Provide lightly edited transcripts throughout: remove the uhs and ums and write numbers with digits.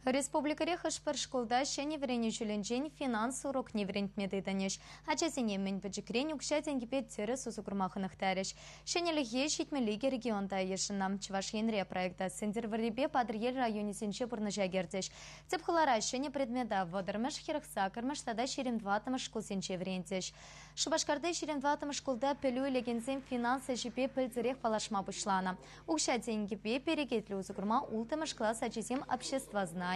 Республикӑри хӑш-пӗр шкулта ҫӗнӗ вӗренӳ ҫулӗнчен финанс урокне вӗрентме тытӑнӗҫ. Ачасене мӗн пӗчӗкрен укҫа-тенкӗпе тӗрӗс усӑ курма хӑнӑхтарӗҫ. Ҫӗнӗлӗхе 72 регионта йышӑннӑ. Чӑваш Енре проекта Сӗнтӗрвӑррипе Патӑрьел районӗсенче пурнӑҫа кӗртӗҫ. Тӗп хулара ҫӗнӗ предмета 30-мӗш, 48-мӗш тата 24-мӗш шкулсенче вӗрентӗҫ. Шупашкарти 24-мӗш шкулта пӗлӳ илекенсем финанс ӗҫӗпе пӗлтӗрех паллашма пуҫланӑ. Укҫа-тенкӗпе перекетлӗ усӑ курма улттӑмӗш класс ачисем обществознани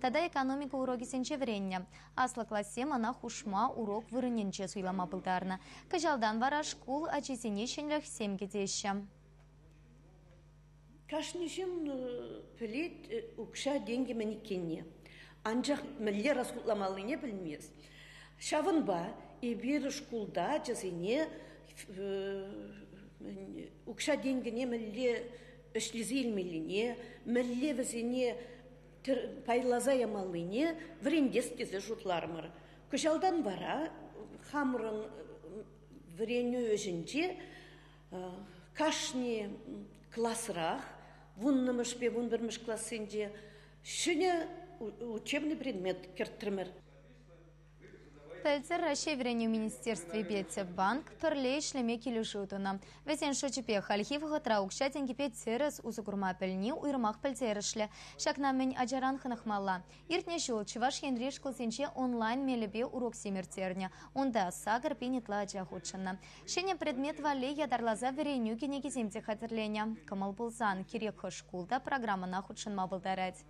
тата экономика урокӗсенче вӗреннӗ. Аслӑ классем ӑна хушма урок вырӑнӗнче суйлама пултарнӑ. Кӑҫалтан вара шкул ачисене ҫӗнӗлӗхсем кӗтеҫҫӗ. Кашни ҫын пӗлет укҫа-тенкӗ мӗн иккенне, анчах мӗнле расхутламаллине пӗлмест. Ҫавӑнпа эпир шкулта ачасене укҫа-тенкӗне мӗнле ӗҫлесе илмеллине, мӗнле вӗсене пайласа ямаллине вӗрентес тесе шутларӑмӑр. Кӑҫалтан вара хамӑрӑн вӗренӳ ӗҫӗнче кашни класрах вуннӑмӗшпе вунпӗрмӗш классенче ҫӗнӗ учебный предмет кӗртрӗмӗр. Пӗлтӗр Раҫҫей Вӗренӳ министерствипе Тӗп банк пӗрле ӗҫлеме килӗшӳ тунӑ. Вӗсен шучӗпе хальхи вӑхӑтра укҫа-тенкӗпе тӗрӗс усӑ курма пӗлни уйрӑмах пӗлтерӗшлӗ. Ҫакна мӗн ачаран хӑнӑхмалла. Иртнӗ ҫул Чӑваш Енри шкулсенче онлайн мелӗпе уроксем ирттернӗ. Унта 8000 ытла ача хутшӑннӑ. Ҫӗнӗ предмет валли ятарласа вӗренӳ кӗнекисем те хатӗрленӗ. Кӑмӑл пулсан кирек хӑш шкул та программӑна хутшӑнма пултарать.